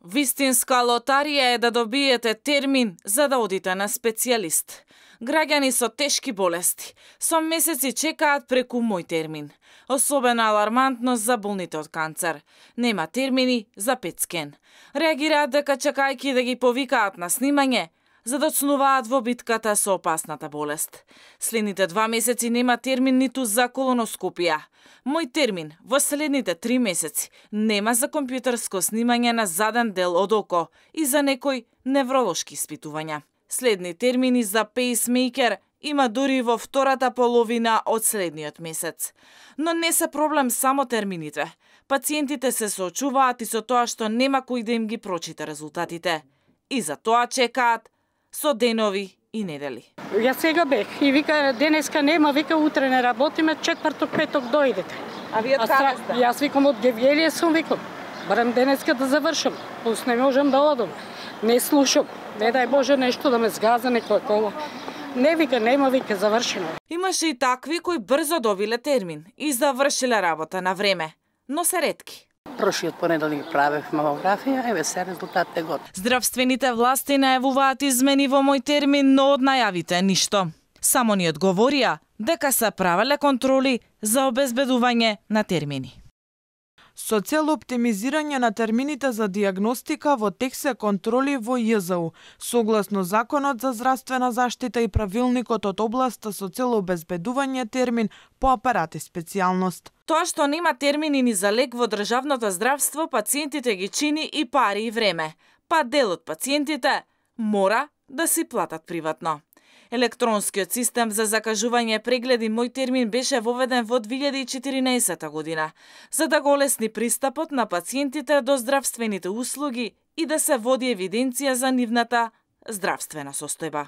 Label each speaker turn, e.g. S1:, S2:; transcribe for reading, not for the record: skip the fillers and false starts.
S1: Вистинска лотарија е да добиете термин за да одите на специјалист. Граѓани со тешки болести со месеци чекаат преку мој термин. Особено алармантно за болните од канцер. Нема термини за пет скен. Реагираат дека чекајќи да ги повикаат на снимање, задоцнуваат во битката со опасната болест. Следните 2 месеци нема термин ниту за колоноскопија. Мој термин во следните 3 месеци нема за компјутерско снимање на заден дел од око и за некои невролошки испитувања. Следни термини за пейсмейкер има дури во втората половина од следниот месец. Но не се проблем само термините. Пациентите се соочуваат и со тоа што нема кој да им ги прочита резултатите. И за тоа чекаат со денови и недели.
S2: Јас сега бех и вика денеска нема, вика утре не работиме, четврток, петок дојдете.
S1: А вие каде сте?
S2: Јас викам од Гевјелија сум, викам. Барем денеска да завршам, пус не можам да одам. Не слушам, не дај Боже нешто да ме згаза некој кола. Не вика, нема, вика, завршено.
S1: Имаше и такви кои брзо добиле термин и завршиле работа на време, но се ретки.
S2: Прошиот понеделник правев мамографија, еве се резултатот е готов.
S1: Здравствените власти најавуваат измени во мој термин, но од најавите ништо. Само ни одговорија дека се правеле контроли за обезбедување на термини.
S3: Со цел оптимизирање на термините за дијагностика во тек се контроли во ЈЗУ, согласно Законот за здравствена заштита и правилникот од областа со цел обезбедување термин по апарат и специјалност.
S1: Тоа што нема термини ни за лек во државното здравство, пациентите ги чини и пари и време, па дел од пациентите мора да си платат приватно. Електронскиот систем за закажување прегледи мој термин беше воведен во 2014 година, за да го олесни пристапот на пациентите до здравствените услуги и да се води евиденција за нивната здравствена состојба.